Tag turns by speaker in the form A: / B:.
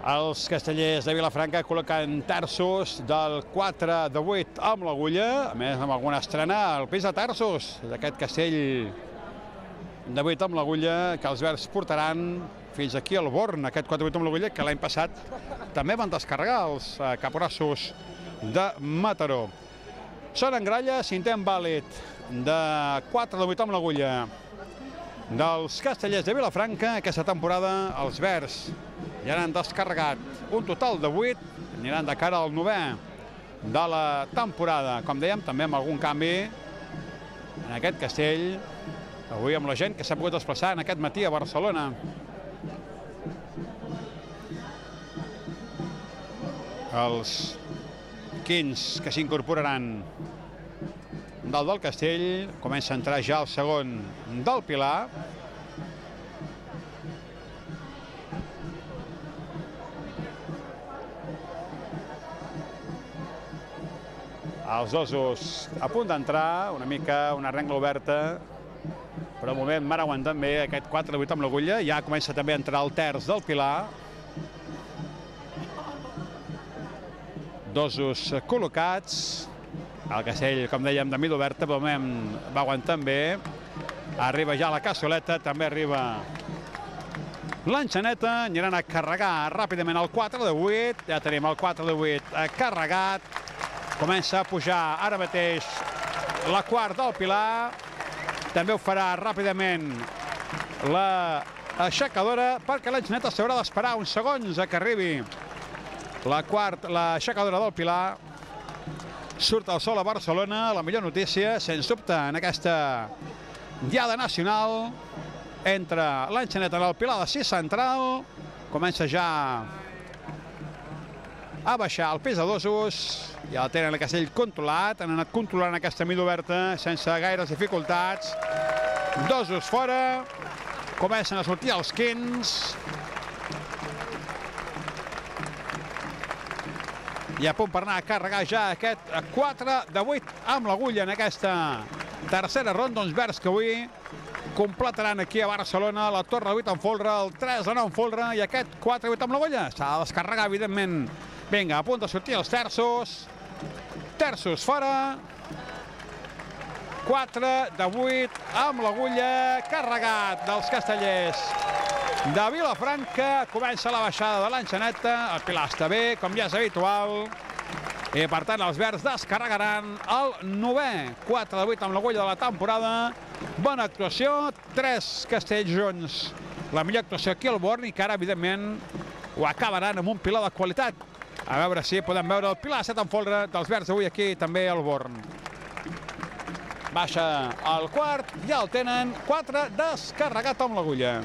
A: Els castellers de Vilafranca col·loquen terços del 4 de 8 amb l'agulla, a més amb alguna estrena al pis de terços d'aquest castell de 8 amb l'agulla que els verds portaran fins aquí al Born, aquest 4 de 8 amb l'agulla que l'any passat també van descarregar els caporassos de Mataró. Són en gralla, cinquè vàlid de 4 de 8 amb l'agulla dels castellers de Vilafranca. Aquesta temporada els verds ja n'han descarregat un total de 8, aniran de cara al 9è de la temporada. Com dèiem, també amb algun canvi en aquest castell, avui amb la gent que s'ha pogut desplaçar en aquest matí a Barcelona. Els 15 que s'incorporaran dalt del castell, comença a entrar ja el segon del Pilar. Els dosos a punt d'entrar, una mica una rengla oberta, però de moment van aguantant bé aquest 4 de 8 amb l'agulla. Ja comença també a entrar el terç del Pilar. Dosos col·locats. El castell, com dèiem, de mida oberta, però de moment va aguantant bé. Arriba ja la cassoleta, també arriba l'enxaneta. Aniran a carregar ràpidament el 4 de 8. Ja tenim el 4 de 8 carregat. Comença a pujar ara mateix la quart del Pilar. També ho farà ràpidament l'aixecadora, perquè l'enxaneta s'haurà d'esperar uns segons a que arribi l'aixecadora del Pilar. Surt el sol a Barcelona, la millor notícia, sens dubte, en aquesta diada nacional entre l'enxaneta i el Pilar de 6 central. Comença ja a baixar el pes de dosos. Ja la tenen el castell controlat, han anat controlant aquesta mida oberta sense gaires dificultats. Dosos fora, comencen a sortir els 15. I a punt per anar a carregar ja aquest 4 de 8 amb l'agulla en aquesta tercera ronda. Uns verds que avui completaran aquí a Barcelona la torre de 8 en folre, el 3 de 9 en folre i aquest 4 de 8 amb l'agulla. S'ha de descarregar, evidentment. Vinga, a punt de sortir els terços. Terços fora. 4 de 8 amb l'agulla carregat dels castellers de Vilafranca. Comença la baixada de l'enxaneta. El Pilar està bé, com ja és habitual. I per tant els verds descarregaran el 9è 4 de 8 amb l'agulla de la temporada. Bona actuació, 3 castells junts. La millor actuació aquí al Born i que ara, evidentment, ho acabaran amb un Pilar de qualitat. A veure si podem veure el Pilar 7 en folre dels verds avui aquí també al Born. Baixa el quart, ja el tenen 4 descarregat amb l'agulla.